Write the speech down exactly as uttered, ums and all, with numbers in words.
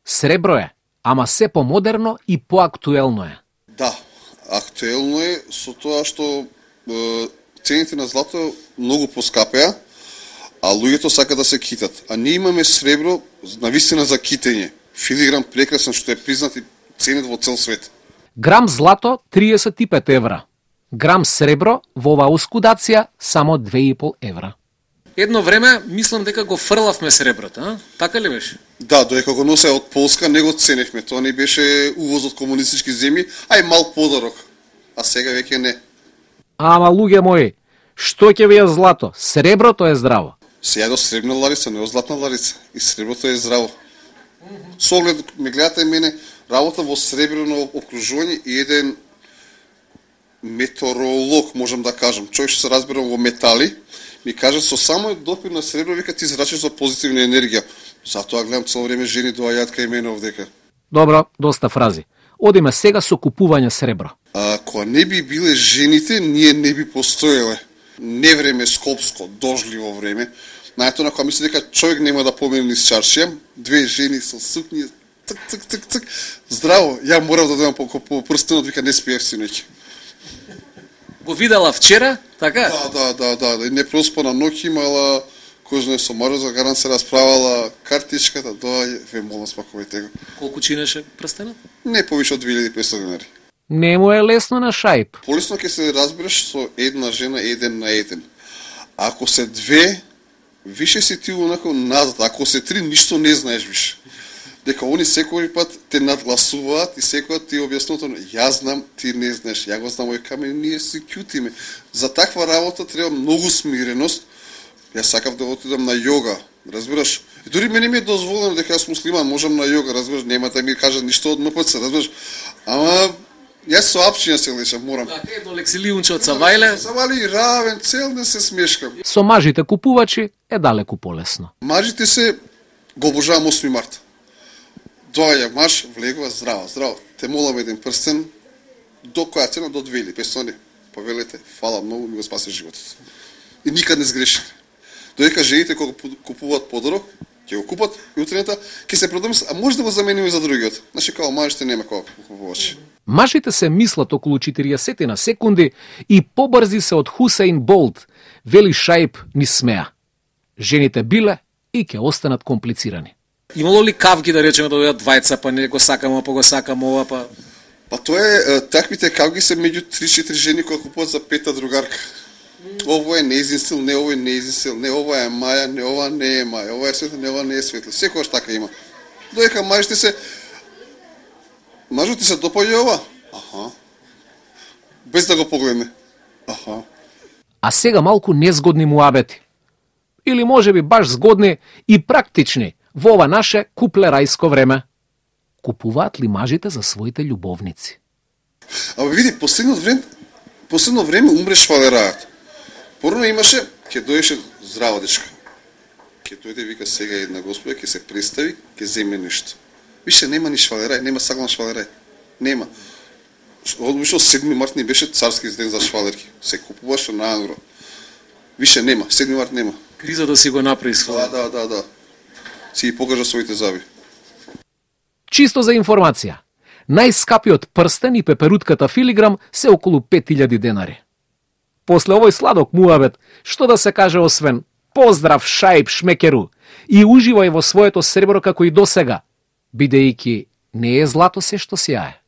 Сребро е, ама се помодерно и поактуелно е. Да, актуелно е со тоа што е, цените на злато многу поскапеа, а луѓето сакаат да се китат. А ние имаме сребро навистина за китење. Филиграм прекрасен што е признат и ценет во цел свет. Грам злато триесет и пет евра. Грам сребро во оваа оскудација само две и пол евра. Едно време мислам дека го фрлавме среброто, а? Така ли беше? Да, додека го носе од Полска не го ценевме. Тоа не беше увоз од комунистички земји, а и мал подарок. А сега веќе не. Ама луѓе мои, што ќе ви е злато? Среброто е здраво. Се јадо сребна ларица, не златна ларица. И среброто е здраво. Со оглед, ме гледате мене, работа во сребрено обкружување и еден метеоролог, можам да кажам, човек што се разбирам во метали, ми кажа со само допир на сребро вика ти зрачиш за позитивна енергија. Затоа гледам цело време жени доаѓаат кај мене овдека. Добро, доста фрази. Одиме сега со купување сребро. А кога не би биле жените, ние не би постоеле. Не време скопско, дожливо време. Наето на кога мисли дека човек нема да помине низ чаршија, две жени со сукњи, цк цк цк цк. Здраво, ја морав да дојдам по, по прстенот, вика не спиев синоќ. Го видела вчера, така? Да, да, да, да. Не проспана ноќ имала, кој знае со Мароза Гаран се расправала, картичката, доаѓа, ве молам спакувајте го. Колку чинеше прстенот? Не повише од две илјади и петстотини денари. Не му е лесно на шајп. Полесно ќе се разбереш со една жена еден на еден. Ако се две, више си ти онако назад, ако се три, ништо не знаеш више. Дека они секој пат те надгласуваат и секој ти објаснуваат, јас знам, ти не знаеш, ја го знам, овој камен, ние си кјутиме. За таква работа треба многу смиреност. Јас сакав да отидам на јога, разбираш? И дури мене ми е дозволено дека јас муслиман, можам на јога, разбираш, нема да ми кажат ништо од ем пе це, разбираш? Ама јас со апчиња се лечам, морам. Така, едно лексилиунче од Савајле. Савајле равен, цел ден се смешкам. Со мажите купувачи е далеку полесно. Мажите се го обожавам осми март. Доаѓа маж, влегува, здраво, здраво. Те молам еден прстен, до која цена? До две илјади и петстотини. Повелете, фала многу, ми го спаси животот. И никад не сгрешите. Додека жените кога купуваат подарок, ќе го купат и утренета ќе се продомислат, а може да го замениме за другиот. Значи као мажите нема кога купувачи. Мажите се мислат околу четириесет на секунди и побрзи се од Хусейн Болт, вели Шајп ни смеа. Жените биле и ќе останат комплицирани. Имало ли кавги да речеме да дојдат двајца, па не го сакам, па го сакам ова, па... Па тоа е, таквите кавги се меѓу три-четири жени кои купуваат за пета другарка. Ово е неизин стил, не ово е неизин стил, не ова е Маја, не ова не е Маја, ова е светло, не ова не е светло. Секојаш така има. Додека мажите се... Мажот ти се допаѓа ова? Аха. Без да го погледне. Аха. А сега малку незгодни муабети. Или можеби баш згодни и практични во ова наше куплерајско време. Купуваат ли мажите за своите љубовници? Абе види, последно време, последно време умре швалерајот. Порано имаше, ќе доеше здрава дечка. Ќе дојде вика сега една господа, ќе се представи, ќе земе нешто. Више нема ни швалерај, нема саглан швалерај. Нема. Одмишло седми март не беше царски ден за швалерки. Се купуваше на ангро. Више нема, седми март нема. Кризата си го направи своја. Да, да, да, да. Си ги покажа своите заби. Чисто за информација. Најскапиот прстен и пеперутката филиграм се околу пет илјади денари. После овој сладок муабет, што да се каже освен поздрав Шајп Шмекеру и уживај во своето сребро како и досега, бидејќи не е злато се што сјае.